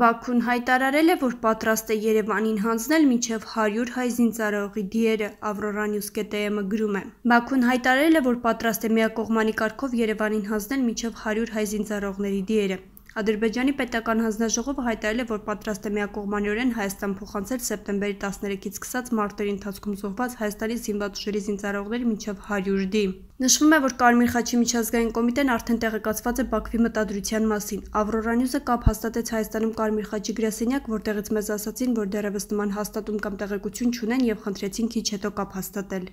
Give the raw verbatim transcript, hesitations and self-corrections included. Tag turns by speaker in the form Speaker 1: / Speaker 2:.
Speaker 1: Բաքուն հայտարարել է, որ պատրաստ է Երևանին հանձնել մինչև հարյուր հայ զինծառայողի դիերը, Ավրորա Նյուզ կետ է էմ-ը գրում է։ Բաքուն հայտարարել է, որ պատրաստ է միակողմանի կարգով Երևանին հանձնել մինչև հարյուր հայ զինծառայողների դիերը։ Ադրբեջանի պետական հանձնաժողովը հայտարարել է, որ պատրաստ է միակողմանիորեն Հայաստան փոխանցել սեպտեմբերի տասներեքից սկսած մարտերի ընթացքում զոհված Հայաստանի զինված ուժերի զինծառայողների մինչև հարյուր դի։ Նշվում է, որ Կարմիր խաչի միջազգային կոմիտեն արդեն տեղեկացված է Բաքվի մտադրության մասին։ Ավրորա Նյուզը կապ հաստատեց Հայաստանում Կարմիր խաչի գրասենյակ, որտեղից մեզ ասացին, որ դեռևս նման հաստատում կամ տեղեկություն չունեն եւ խնդրեցին քիչ հետո կապ հաստատել։